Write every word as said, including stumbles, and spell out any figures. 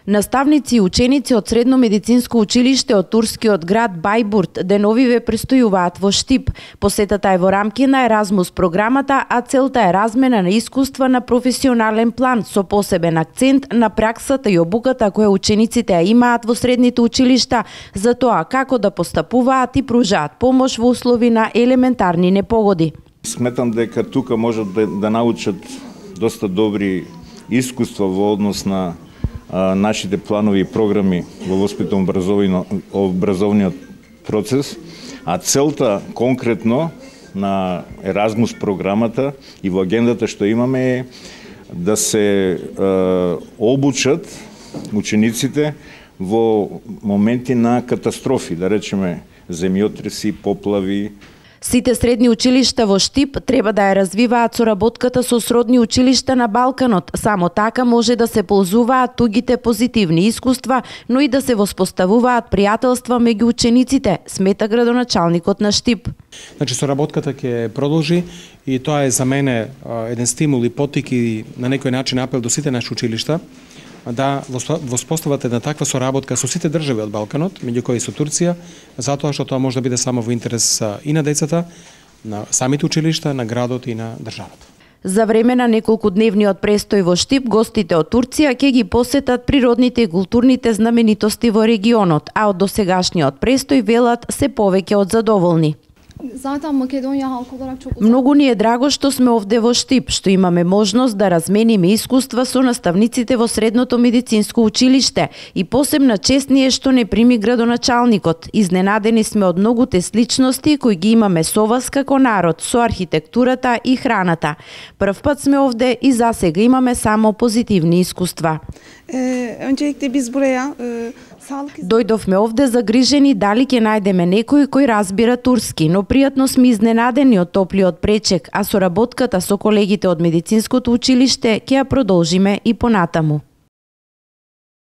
Наставници и ученици од Средно медицинско училиште од турскиот град Бајбурт деновиве престојуваат во Штип. Посетата е во рамки на Еразмус програмата, а целта е размена на искуства на професионален план со посебен акцент на праксата и обуката која учениците ја имаат во средните училишта за тоа како да постапуваат и пружаат помош во услови на елементарни непогоди. Сметам дека тука можат да, да научат доста добри искуства во однос на а, нашите планови и програми во воспитно-образовниот процес, а целта конкретно на Еразмус програмата и во агендата што имаме е да се а, обучат учениците во моменти на катастрофи, да речеме земјотреси, поплави. Сите средни училишта во Штип треба да ја развиваат соработката со сродни училишта на Балканот. Само така може да се ползуваат тугите позитивни искуства, но и да се воспоставуваат пријателства меѓу учениците, смета градоначалникот на Штип. Значи соработката ќе продолжи и тоа е за мене еден стимул и поттик и на некој начин апел до сите наши училишта да воспостават една таква соработка со сите држави од Балканот, меѓу кои со Турција, затоа што тоа може да биде само во интерес и на децата, на самите училишта, на градот и на државата. За време на неколкудневниот престој во Штип, гостите од Турција ќе ги посетат природните и културните знаменитости во регионот, а од досегашниот престој велат се повеќе од задоволни. Многу ни е драго што сме овде во Штип, што имаме можност да размениме искуства со наставниците во Средното медицинско училиште и посебна чест ни е што не прими градоначалникот. Изненадени сме од многуте сличности кои ги имаме со вас како народ, со архитектурата и храната. Прв пат сме овде и засега имаме само позитивни искуства. Дојдовме овде загрижени дали ќе најдеме некој кој разбира турски, но пријатно сме изненадени од топлиот пречек, а соработката со колегите од медицинското училиште ќе ја продолжиме и понатаму.